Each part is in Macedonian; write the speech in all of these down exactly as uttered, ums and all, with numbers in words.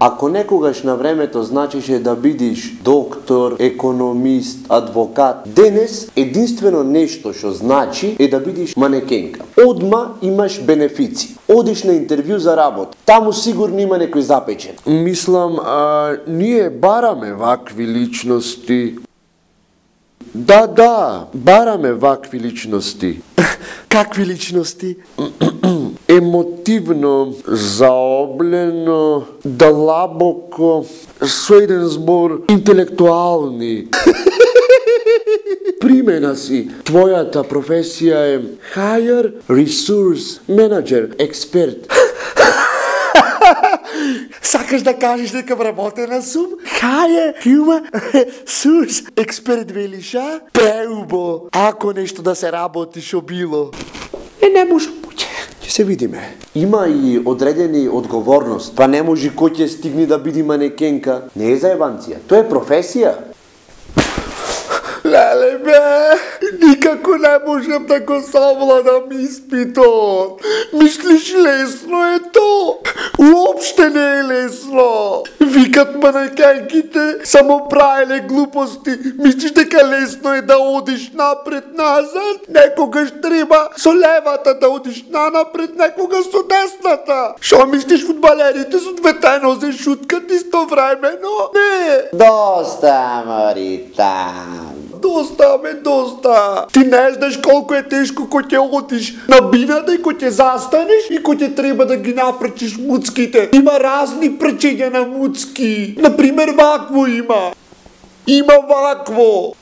Ако некогаш на времето значеше да бидиш доктор, економист, адвокат, денес единствено нешто што значи е да бидиш манекенка. Одма имаш бенефици. Одиш на интервју за работа. Таму сигурно има некој запечен. Мислам, а, ние бараме вакви личности. Да, да, бараме вакви личности. Какви личности? Емотивно, заоблено, длабоко, со еден збор, интелектуални. Примена си. Твојата професија е Hire Resource Manager, експерт. Сакаш да кажеш дека вработена сум? Hire Human Resource експерт велиш, а? Преубо. Ако нешто да се работи шо било. Е, не може. Ќе се видиме. Има и одредени одговорност. Па не може кој ќе стигне да биде манекенка. Не е заебанција. Тоа е професија. Леле бе, никако не можем да го совладам испитот. Мислиш лесно е то? Уопште не е лесно. Викат манекенките само правеле глупости. Мислиш дека лесно е да одиш напред-назад? Некогаш треба со левата да одиш нанапред, некогаш со десната. Шо мислиш фудбалерите со двете нозе шуткат истовремено? Не. Доста, Маритан. Доста, ме, доста. Ти не знаеш колко е тешко кој ќе одиш на бината и кој ќе застанеш и кој ќе треба да ги напречиш муцките. Има разни пречења на муцки. Например, вакво има. Има вакво.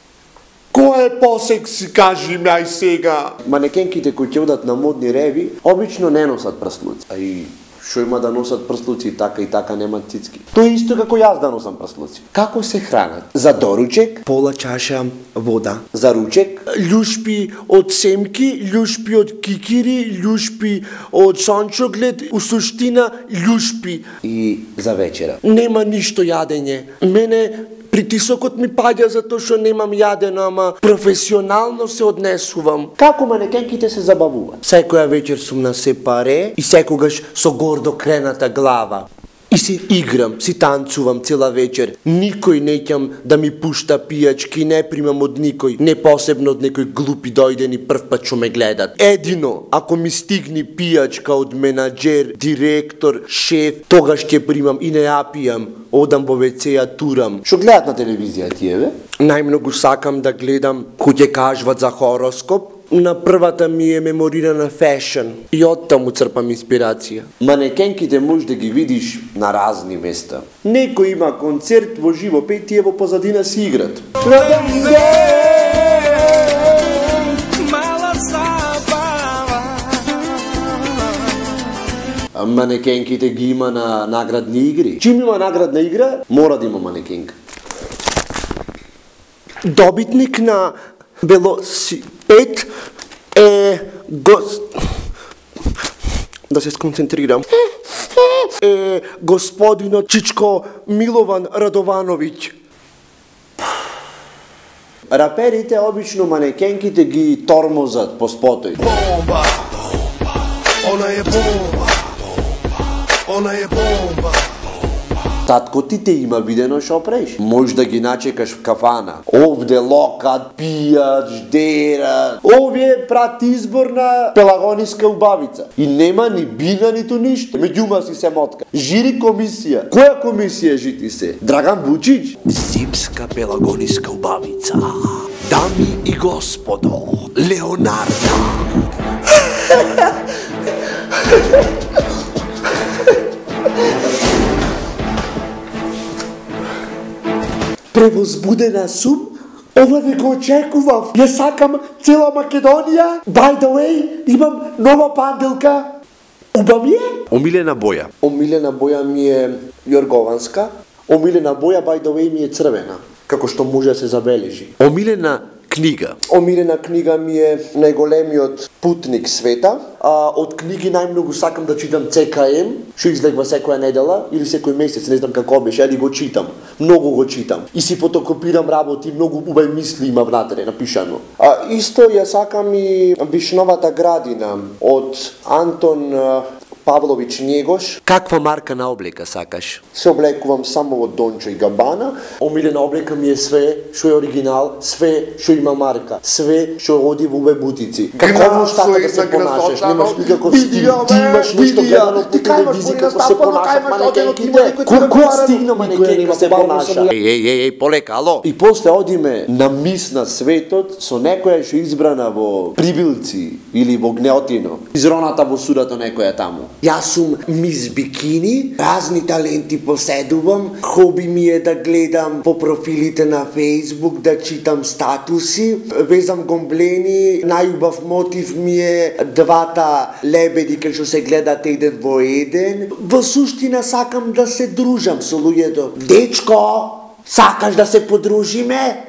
Кој е посекси, кажи ми ај сега. Манекенките кои ќе одат на модни реви, обично не носат прслуци. А и шо има да носат прслуци, така и така немат цицки. Тоа е исто како јас да носам прслуци. Како се хранат? За доручек, пола чаша вода. За ручек, љушпи од семки, љушпи од кикири, љушпи од сончоглед, у суштина љушпи. И за вечера. Нема ништо јадење. Мене притисокот ми паѓа затоа што немам јадено, ама професионално се однесувам. Како манекенките се забавуваат? Секоја вечер сум на сепаре и секогаш со гордо крената глава. И си играм, си танцувам цела вечер. Никој неќам да ми пушта пијачки, не примам од никој, не посебно од некој глупи дојдени прв пат што ме гледат. Едино, ако ми стигни пијачка од менаџер, директор, шеф, тогаш ќе примам и не ја пијам. Одам во ве це, ја турам. Што гледат на телевизија тие, бе? Најмногу сакам да гледам кој ќе кажуват за хороскоп. На првата ми е меморирана фешн и оттаму црпам инспирација. Манекенките може да ги видиш на разни места. Некој има концерт во живо пејтие, во позадина си играт. Манекенките ги има на наградни игри. Чим има наградна игра, мора да има манекенка. Добитник на велосипед е гос... Да се сконцентрирам. Е господинот Чичко Милован Радовановиќ. Раперите обично манекенките ги тормозат по спотој. Бомба! Она е бомба! Она е бомба! Татко ти те има видено шо преш. Може да ги начекаш в кафана. Овде локат, пијат, ждерат. Овие прат избор на пелагониска убавица. И нема ни бина, ниту ништо. Меѓума си се мотка. Жири комисија. Која комисија жити се? Драган Вучич? Зимска пелагониска убавица. Дами и господо, Леонардо. Превозбудена сум? Ова не го очекував. Ја сакам цела Македонија. By the way, имам нова панделка. Уба ми е? Омилена боја. Омилена боја ми е јоргованска. Омилена боја, by the way, ми е црвена. Како што може да се забележи. Омилена книга. Омилена книга ми е најголемиот путник света. А, од книги најмногу сакам да читам Це Ка Ем, што излегва секоја недела или секој месец, не знам како беше, али го читам. Многу го читам. И си фотокопирам работи, многу убави мисли има внатре напишано. А исто ја сакам и Вишновата градина од Антон Павлович Njegos. Каква марка на облека сакаш? Се облекувам само од Dolce and Gabbana. Омилена облека ми е све што е оригинал, све што има марка, све што оди во убе бутици. Како можеш така да се понашаш? Немаш никаков стил. Ти имаш нешто гледано по телевизија како се понашат манекенките. Колку стигна манекенка се понаша? Еј, еј, еј, еј, полека, ало. И после одиме на мис на светот со некоја што избрана во Прибилци или во Гнеотино. Изроната во судото некоја таму. Јас сум мис бикини, разни таленти поседувам, хоби ми е да гледам по профилите на Facebook, да читам статуси, везам гомблени, најубав мотив ми е двата лебеди кај што се гледат еден во еден. Во суштина сакам да се дружам со луѓето. Дечко, сакаш да се подружиме?